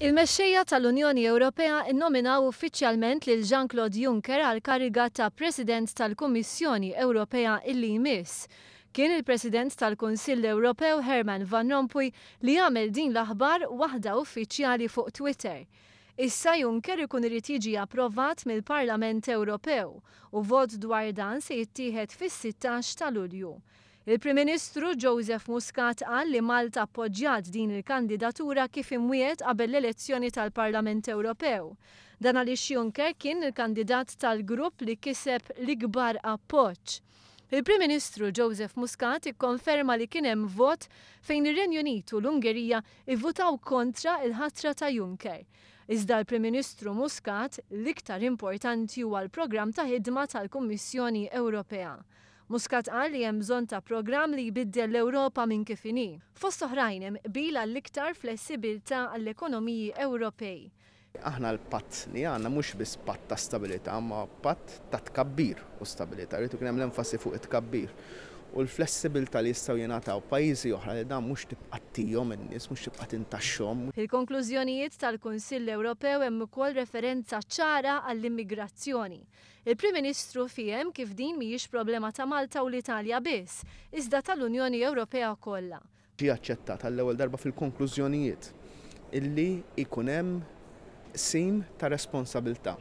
Il-mexxejja tal-Unjoni Ewropea nnominaw uffiċjalment lil Jean-Claude Juncker għall-kariga ta' President tal-Kummissjoni Ewropea illi jmiss. Kien il-President tal-Kunsill Ewropew Herman Van Rompuy li għamel din l-aħbar waħda uffiċjali fuq Twitter. Issa Juncker ikun irid jiġi approvat mill-Parlament Ewropew u vot dwar dan se jittieħed fis-16 ta' Lulju. Il-Prim Ministru Joseph Muscat qal li Malta appoġġjat din il-kandidatura kif imwiegħed qabel l-elezzjoni tal-Parlament Ewropew. Dan għaliex Juncker kien il-kandidat tal-grupp li kiseb l-ikbar appoġġ. Il-Prim Ministru Joseph Muscat ikkonferma li kien hemm vot fejn ir-Renju Unit u l-Ungerija ivvutaw kontra l-ħatra ta' Juncker. Iżda l-Prim Ministru Muscat l-iktar importanti huwa l-programm ta' ħidma tal-Kummissjoni Ewropea. Muscat qal li hemm bżonn ta' programm li jbiddel l-Ewropa minn kif inhi. Fost oħrajn hemm qbil għall-iktar flessibilità għall-ekonomiji Ewropej. Aħna l-patt li għandna mhux biss patt ta' stabilità, ma patt ta' tkabbir u stabilità. Rrid ikun hemm l-enfasi fuq it-tkabbir. U l-flessibilità li jistgħu jingħataw pajjiżi oħra li dan mhux tibqa' ttihom in-nies, mhux tibqa' tintaxxhom. Fil-konklużjonijiet tal-Kunsill Ewropew hemm ukoll referenza ċara għall-immigrazzjoni. Il-Prim Ministru fiehem kif din mhijiex problema ta' Malta u l-Italja biss, iżda tal-Unjoni Ewropea kollha. Ġie aċċettat għall-ewwel darba fil-konklużjonijiet illi jkun hemm qsim ta' responsabilità,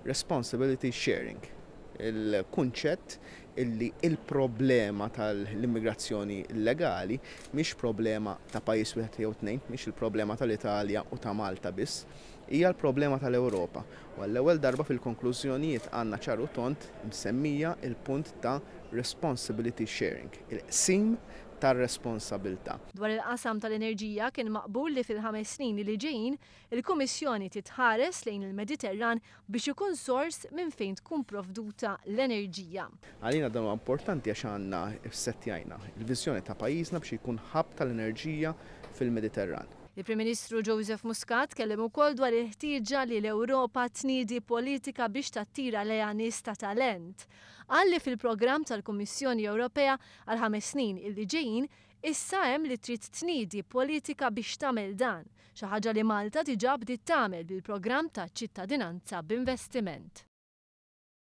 responsibility sharing, il-kunċett illi il-problema tal-immigrazzjoni illegali mhix problema ta' pajjiż wieħed jew tnejn, mhix il-problema tal-Italja u ta' Malta biss, hija l-problema tal-Ewropa. U għall-ewwel darba fil-konklużjonijiet għandna ċar u tond msemmija il-punt ta' responsibility sharing, il-qsim tar-responsabilità. Dwar il-qasam tal-enerġija kien maqbul li fil-5 snin li ġejjin il-Kummissjoni titħares lejn il-Mediterran biex ikun sors minn fejn tkun provduta l-enerġija. Għalina dan huwa importanti għax għandna ssettjajna il-viżjoni ta' pajjiżna biex ikun hub tal-enerġija fil-Mediterran. Il-Prim Ministru Joseph Muscat kellem ukoll dwar il-ħtieġa li l-Ewropa tniedi politika biex tattira lejha nies ta' talent. Qal li fil-programm tal-Kummissjoni Ewropea għal 5 snin illi ġejjin issa hemm li trid tniedi politika biex tagħmel dan, xi ħaġa li Malta diġà bdiet tagħmel bil-programm ta' ċittadinanza b'investiment.